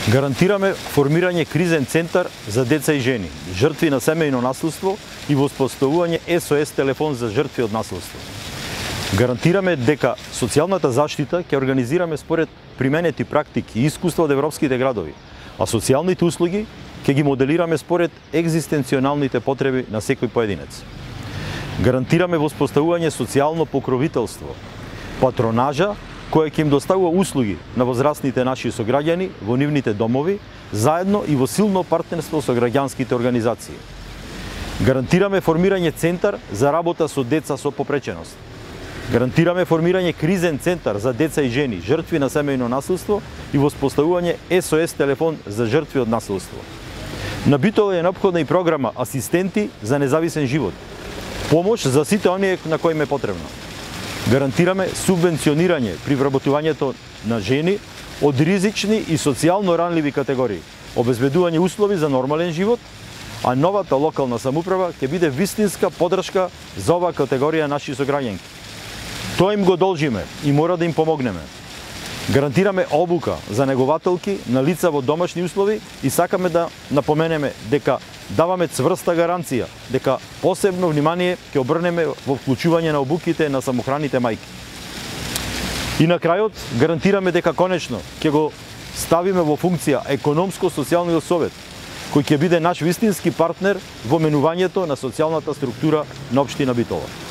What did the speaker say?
Гарантираме формирање кризен центар за деца и жени, жртви на семејно насилство и воспоставување SOS телефон за жртви од насилство. Гарантираме дека социјалната заштита ќе организираме според применети практики и искуства од европските градови, а социјалните услуги ќе ги моделираме според екзистенционалните потреби на секој поединец. Гарантираме воспоставување социјално покровителство, патронажа која ќе им доставува услуги на возрастните наши сограѓани во нивните домови, заедно и во силно партнерство со граѓанските организации. Гарантираме формирање центар за работа со деца со попреченост. Гарантираме формирање кризен центар за деца и жени, жртви на семејно насилство и воспоставување SOS телефон за жртви од насилство. На Битола е неопходна и програма Асистенти за независен живот, помош за сите оние на кои им е потребно. Гарантираме субвенционирање при вработувањето на жени од ризични и социјално ранливи категории, обезбедување услови за нормален живот, а новата локална самоуправа ќе биде вистинска поддршка за оваа категорија наши сограѓанки. Тоа им го должиме и мора да им помогнеме. Гарантираме обука за негователки на лица во домашни услови и сакаме да напоменеме дека даваме цврста гаранција дека посебно внимание ќе обрнеме во вклучување на обуките на самохраните мајки. И на крајот гарантираме дека конечно ќе го ставиме во функција економско-социјалниот совет, кој ќе биде наш вистински партнер во менувањето на социјалната структура на општина Битола.